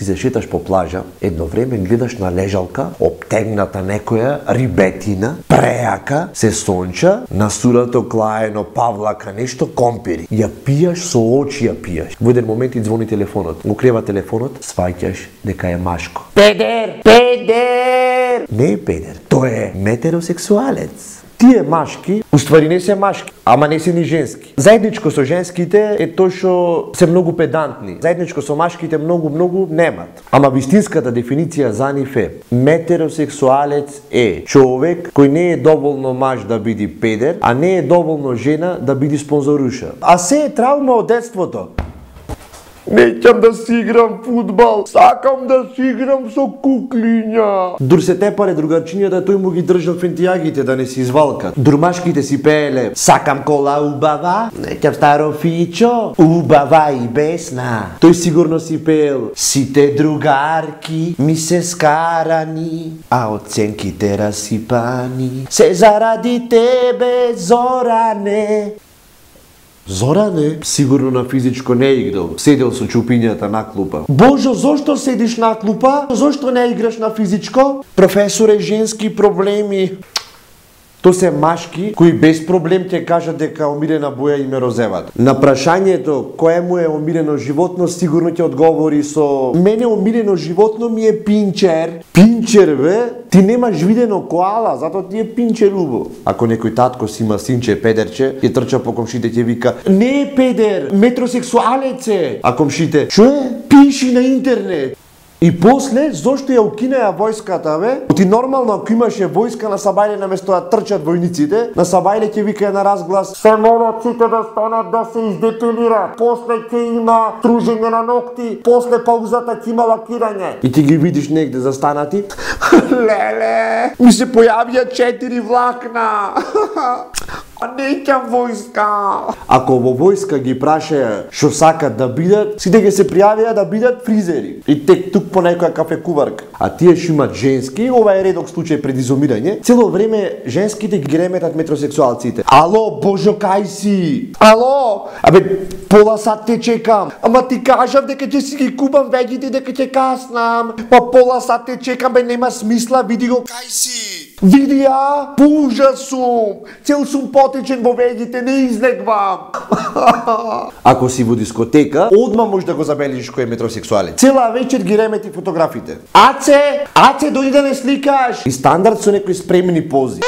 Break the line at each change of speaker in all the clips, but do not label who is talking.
си се шеташ по плажа, едно време гледаш на лежалка, обтегната некоја рибетина, преака, се сонча, на сурато клаено павлака нешто компири. Ја пијаш со очи ја пијаш. Во еден момент и звони телефонот. Го крива телефонот, сваќаш дека е машко. Педер! Педер! Не е педер, тој е метеросексуалец. Тие машки, уствари не се машки, ама не се ни женски. Заедничко со женските е тоа што се многу педантни. Заедничко со машките многу немат. Ама вистинската дефиниција за нив е: метеросексуалец е човек кој не е доволно маж да биде педер, а не е доволно жена да биде спонзоруша. А се е травма од детството. Неќам да си играм фудбал, сакам да си играм со куклиња. Дур се тепаре другарчињата, тој му ги држал фентијагите да не си извалкат. Дурмашките си пееле: сакам кола убава, неќам старо фичо, убава и бесна. Тој сигурно си пеел: сите другарки ми се скарани, а оценките расипани. Се заради тебе, Зоране. Зоране сигурно на физичко не играл, седел со чупињата на клупа. Божо, зошто седиш на клупа? Зошто не играш на физичко? Професоре, женски проблеми. То се машки кои без проблем ќе кажат дека омилена боја им е розевата. На прашањето кое му е омилено животно, сигурно ќе одговори со: мене омилено животно ми е пинчер. Пинчер бе? Ти немаш видено коала, затоа ти е пинчер убо. Ако некој татко си има синче педерче, ќе трча по комшите, ќе вика: не е педер, метросексуалец е. А комшите: што е? Пиши на интернет. И после, зошто ја укинеа војската, бе? Ти нормално, ако имаше војска на Сабајле, наместо да трчат војниците, на Сабајле ќе вика на разглас: се молат сите да станат да се издепилираат. После ќе има тружење на ногти, после паузата ќе има лакирање. И ти ги видиш негде застанати: леле, ми се појавија 4 влакна. Неќам војска. Ако во војска ги прашаја што сакат да бидат, сите ќе се пријавија да бидат фризери. И тек тук по некоја кафекуварка. А тие што имат женски, ова е редок случај пред изумирање, цело време женските ги реметат метросексуалците. Ало, Божо, кај си? Ало, абе, пола сат те чекам. Ама ти кажав дека ќе си ги купам веќите, дека ќе каснам. Па пола сат те чекам, бе, нема смисла, види го кај си. Види ја, пужа сум. Цел сум потечен во веѓите, не излегвам. Ако си во дискотека, одма може да го забележиш кој е метросексуалец. Цела вечер ги ремети фотографите. Аце, дојди да не сликаш. И стандард со некои спремени пози.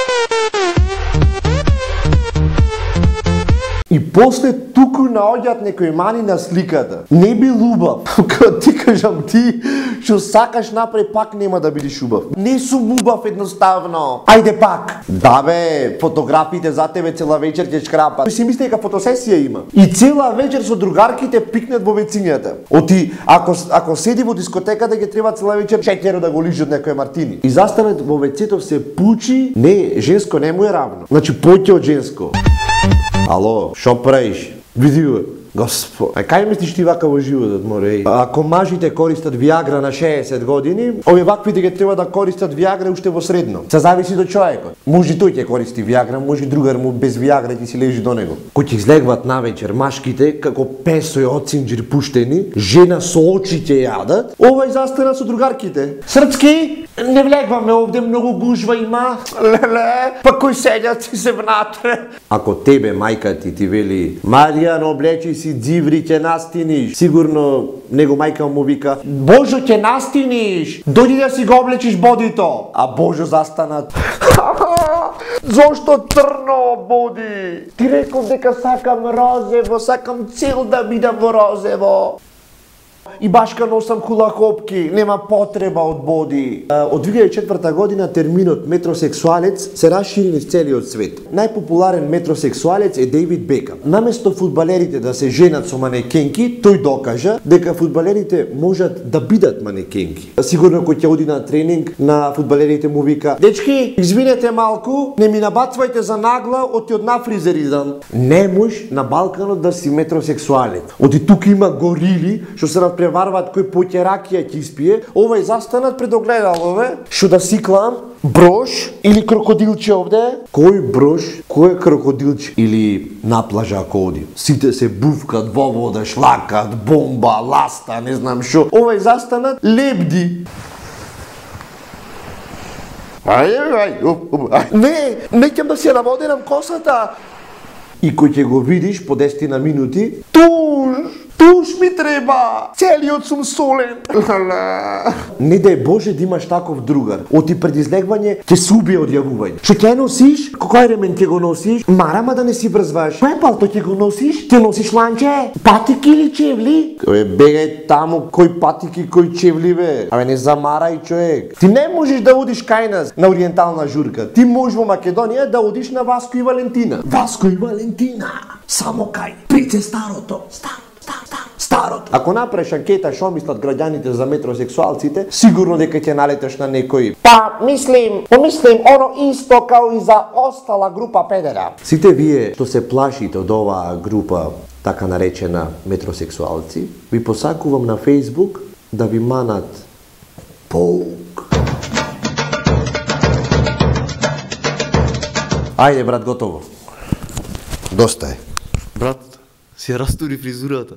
И после туку наоѓаат некои мани на сликата. Не би убав. Кога ти кажам ти, што сакаш напред, пак нема да бидеш убав. Не сум убав едноставно. Ајде пак. Да бе, фотографите за тебе цела вечер ќе шкрапат. Си мисли дека фотосесија има. И цела вечер со другарките пикнат во вецињата. Оти, ако седи во дискотеката, ќе треба цела вечер 4 да го лижат некој мартини. И застанат во вецето се пучи, не, женско не му е равно. Значи поќе од женско. Ало, шо правиш? Види го. Господ, а кај мислиш ти вака во животот, море? Ако мажите користат Виагра на 60 години, овие ваквите ќе треба да користат Виагра уште во средно. Се зависи до човекот. Може тој ќе користи Виагра, може другар му без Виагра ќе си лежи до него. Кој ќе излегват навечер машките како песој од синџир пуштени, жена со очи ќе јадат, овај застана со другарките. Српски, не влегваме овде, многу гужва има. Леле, па кој седјат си се внатре. Ако тебе мајка ти вели: Маријан, облечи си дзиври, ќе настиниш. Сигурно него мајка му вика: Божо, ќе настиниш. Дојди да си го облечиш бодито. А Божо застанат: зошто црно боди? Ти реков дека сакам розево, сакам цел да бидам во розево. И башка носам хулакопки, нема потреба од боди. Од 2004 година терминот метросексуалец се расшири низ целиот свет. Најпопуларен метросексуалец е Дейвид Бекам. Наместо фудбалерите да се женат со манекенки, тој докажа дека фудбалерите можат да бидат манекенки. Сигурно кој ќе оди на тренинг, на фудбалерите му вика: дечки, извинете малку, не ми набацвајте за нагла, оти од нафризеризам. Не можеш на Балканот да си метросексуалец. Оти тука има горили што се на надпреварваат кој поќе ракија ќе испие, овај застанат пред огледалове, што да сиклам брош или крокодилче овде? Кој брош, кој крокодилче или на плажа ако оди. Сите се буфкат во вода, шлакат, бомба, ласта, не знам што. Овај застанат лебди. Не ќе да се наводенам косата. И кој ќе го видиш по 10 минути, туш ми треба, целиот сум солен. Не дај Боже да имаш таков другар. Оти пред излегвање ќе се убие од јавување. Што ќе носиш? Кој ремен ќе го носиш? Марама да не си брзваш. Кој палто ќе го носиш? Ќе носиш ланче? Патики или чевли? Бегај таму, кој патики, кој чевли бе? Абе не замарај човек. Ти не можеш да одиш кај нас на ориентална журка. Ти можеш во Македонија да одиш на Васко и Валентина. Васко и Валентина. Само кај Прице старото. Старото. Ако направиш анкета што мислат граѓаните за метросексуалците, сигурно дека ќе налетеш на некој. Помислим оно исто као и за остала група педера. Сите вие што се плашите од оваа група, така наречена метросексуалци, ви посакувам на Facebook да ви манат паук. Ајде брат, готово. Доста е.
Брат, си ја растури фризурата.